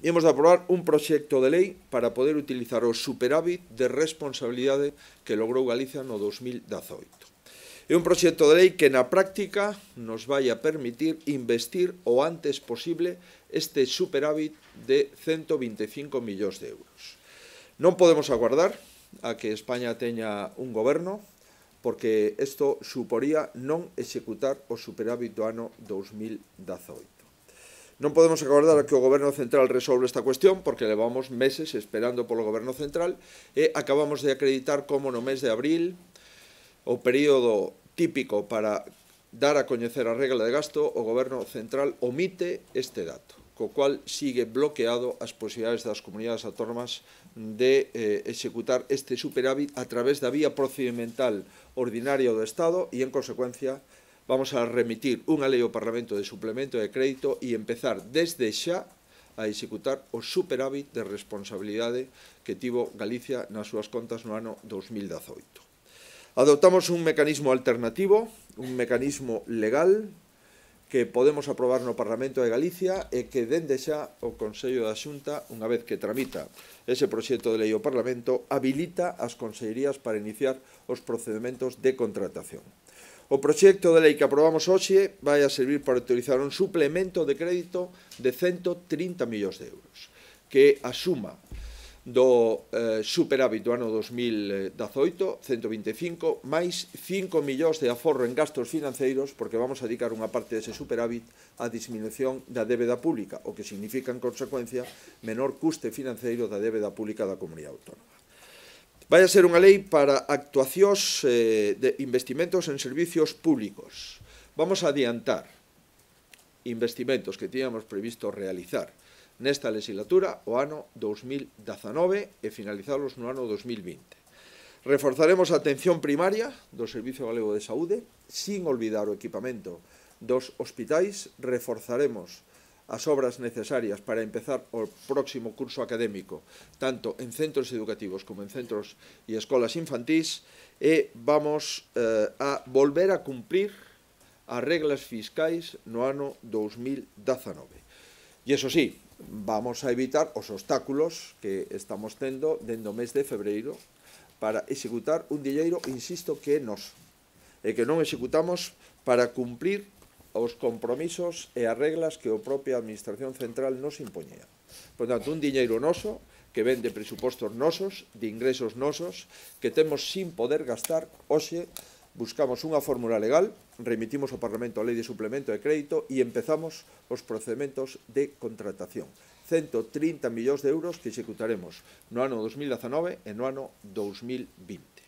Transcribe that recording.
Imos de aprobar un proxecto de lei para poder utilizar o superávit de responsabilidade que logrou Galicia no 2018. É un proxecto de lei que na práctica nos vai a permitir investir o antes posible este superávit de 125 millóns de euros. Non podemos aguardar a que España teña un goberno, porque isto suporía non executar o superávit do ano 2018. Non podemos aguardar a que o Goberno Central resolva esta cuestión, porque levamos meses esperando polo Goberno Central e acabamos de acreditar como no mes de abril, o período típico para dar a coñecer a regla de gasto, o Goberno Central omite este dato, co cual sigue bloqueado as posibilidades das comunidades autónomas de executar este superávit a través da vía procedimental ordinaria do Estado e, en consecuencia, vamos a remitir unha lei ao Parlamento de suplemento de crédito e empezar desde xa a executar o superávit de responsabilidade que tivo Galicia nas súas contas no ano 2018. Adoptamos un mecanismo alternativo, un mecanismo legal, que podemos aprobar no Parlamento de Galicia e que dende xa o Consello da Xunta, unha vez que tramita ese proxecto de lei ao Parlamento, habilita as consellerías para iniciar os procedementos de contratación. O proxecto de lei que aprobamos hoxe vai a servir para utilizar un suplemento de crédito de 130 millóns de euros, que a suma do superávit do ano 2018, 125, máis 5 millóns de aforro en gastos financeiros, porque vamos a dedicar unha parte dese superávit á disminución da débeda pública, o que significa, en consecuencia, menor custe financeiro da débeda pública da comunidade autónoma. Vai a ser unha lei para actuacións de investimentos en servicios públicos. Vamos a adiantar investimentos que tiñamos previsto realizar nesta legislatura o ano 2019 e finalizalos no ano 2020. Reforzaremos a atención primaria do Servicio Galego de Saúde, sin olvidar o equipamento dos hospitais. Reforzaremos as obras necesarias para empezar o próximo curso académico, tanto en centros educativos como en centros e escolas infantís, e vamos a volver a cumprir as reglas fiscais no ano 2019. E iso sí, vamos a evitar os obstáculos que estamos tendo dende o mes de febreiro para executar un diñeiro, insisto, que é noso, e que non executamos para cumprir os compromisos e as reglas que a propia Administración Central nos impoñía. Por tanto, un diñeiro noso, que ven de presupostos nosos, de ingresos nosos, que temos sin poder gastar. Hoxe buscamos unha fórmula legal, remitimos ao Parlamento a lei de suplemento de crédito e empezamos os procedementos de contratación. 130 millóns de euros que executaremos no ano 2019 e no ano 2020.